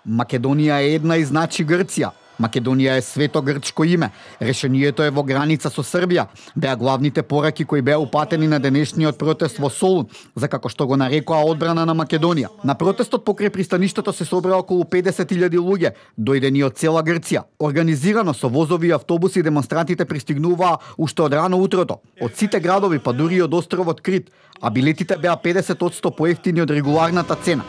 Македонија е една и значи Грција. Македонија е свето грчко име. Решението е во граница со Србија. Беа главните пораки кои беа упатени на денешниот протест во Солун, за како што го нарекоа одбрана на Македонија. На протестот покрај пристаништето се собра околу 50.000 луѓе, дојдени од цела Грција. Организирано со возови и автобуси демонстрантите пристигнуваа уште од рано утрото. Од сите градови, па дури и од островот Крит, а билетите беа 50% поевтини од регуларната цена.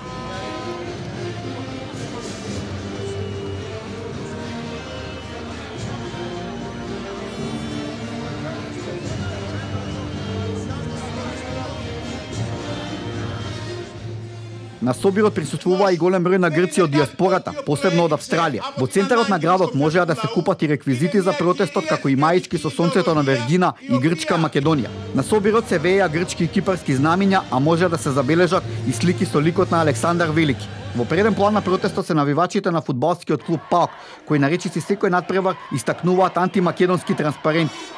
На собирот присуствуваа и голем број на грци од диаспората, посебно од Австралија. Во центарот на градот можеа да се купат и реквизити за протестот, како и маички со сонцето на Вергина и грчка Македонија. На собирот се вееа грчки и кипарски знамиња, а може да се забележат и слики со ликот на Александар Велики. Во преден план на протестот се навивачите на фудбалскиот клуб ПАОК, кои наречици секој надпревар истакнуваат антимакедонски транспаренти.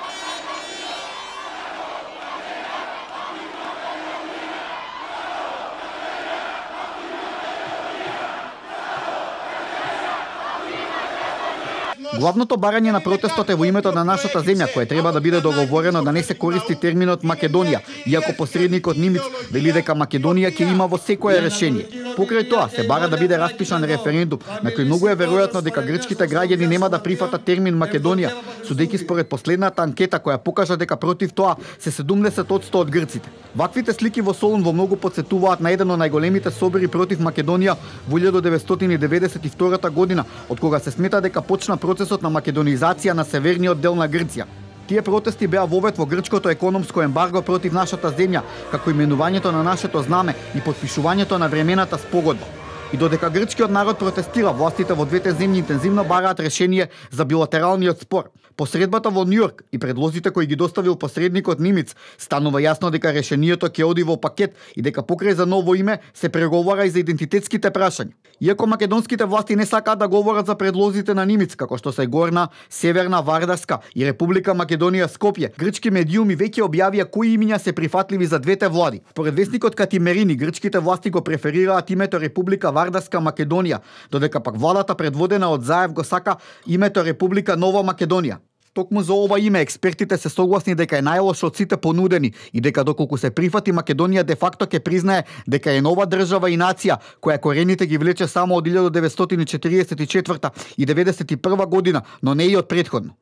Главното барање на протестот е во името на нашата земја, кое треба да биде договорено да не се користи терминот Македонија, иако посредникот Нимиц вели дека Македонија ќе има во секое решение. Покрај тоа се бара да биде распишан референдум, на кој многу е веројатно дека грчките граѓани нема да прифатат термин Македонија, судејќи според последната анкета која покажа дека против тоа се 70% од грците. Ваквите слики во Солун во многу потсетуваат на еден од најголемите собори против Македонија во 1992 година, од кога се смета дека почна процесот на македонизација на северниот дел на Грција. Тие протести беа вовет во грчкото економско ембарго против нашата земја, како именувањето на нашето знаме и потпишувањето на времената спогодба. И додека грчкиот народ протестира, властите во двете земји интензивно бараат решение за билатералниот спор. Посредбата во Њујорк и предлозите кои ги доставил посредникот Нимиц станува јасно дека решението ќе оди во пакет и дека покрај за ново име се преговара и за идентитетските прашања. Иако македонските власти не сакаат да говорат за предлозите на Нимиц, како што се Горна, Северна Вардарска и Република Македонија Скопје, грчки медиуми веќе објавија кои имиња се прифатливи за двете влади. Според весникот Катимерини, грчките власти го преферираат името Република Вардарска Македонија, додека пак владата предводена од Заев го сака името Република Нова Македонија. Токму за ова име експертите се согласни дека е најлошо од сите понудени и дека доколку се прифати Македонија де факто ќе признае дека е нова држава и нација која корените ги влече само од 1944 и 1991 година, но не и од претходно.